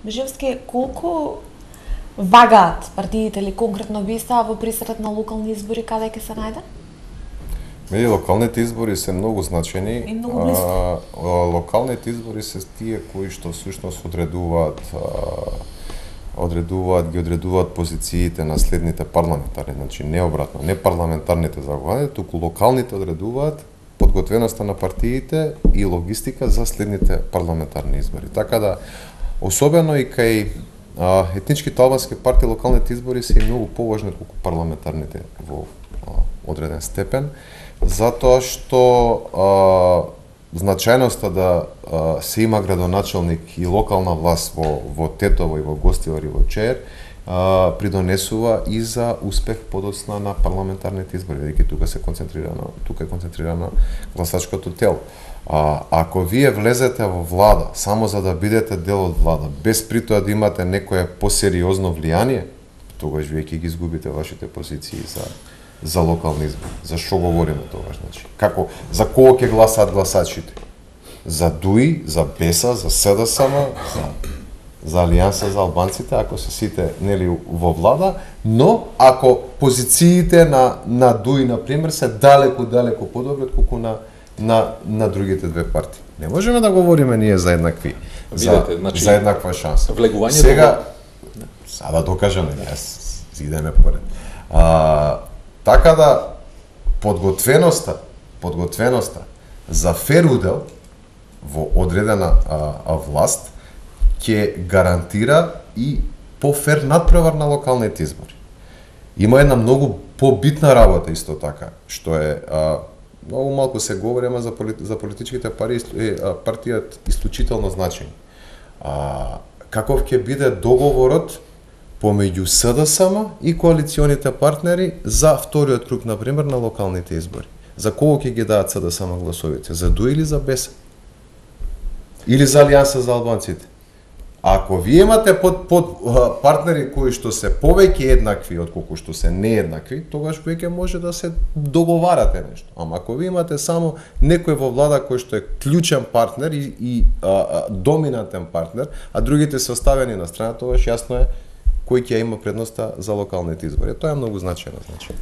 Бежевски, колку вагаат партиите или конкретно ВИСА во присрет на локални избори каде ќе се најде? Локалните избори се многу значени. И многу близко. Локалните избори се тие кои што всушност ги одредуваат позициите на следните парламентарни, значи не обратно, не парламентарните заглавни, туку локалните одредуваат подготвеноста на партиите и логистика за следните парламентарни избори. Така да, особено и кај етничките албански партии, локалните избори се и многу поважни отколку парламентарните во одреден степен, затоа што значајноста да се има градоначелник и локална власт во Тетово и во Гостивар и во Чеер придонесува и за успех подоцна на парламентарните избори, бидејќи тука е концентрирано гласачкото тело. Ако вие влезете во влада само за да бидете дел од влада, без при тоа да имате некое посериозно влијание, тогаш вие ќе ги изгубите вашите позиции за локални избори. За што говориме тогаш, значи? За кого ќе гласаат гласачите? За ДУИ, за БЕСА, за СДСМ, за Алијанса за албанците, ако се сите нели во влада, но ако позициите на ДУИ на пример се далеку подобри отколку на другите две партии. Не можеме да говориме ние за еднакви, за еднаква шанса. Сега да докажам, јас идеме поред. Така да подготвеноста за фер удел во одредена власт ќе гарантира и по-фер надпревар на локалните избори. Има една многу побитна работа исто така, што е многу малку се говори, ама за политичките партии исклучително значање. Каков ќе биде договорот помеѓу СДСМ и коалиционите партнери за вториот круг, например, на локалните избори? За кого ќе ги дадат СДСМ гласовите? За ДУИ или за БЕС? Или за Алијанса за албанците? Ако вие имате партнери кои што се повеќе еднакви отколку што се нееднакви, тогаш веќе може да се договарате нешто. Ама ако ви имате само некој во влада кој што е клучен партнер и доминантен партнер, а другите се оставени на страна, тогаш јасно е кој ќе има предноста за локалните избори. Тоа е многу значајно, значи.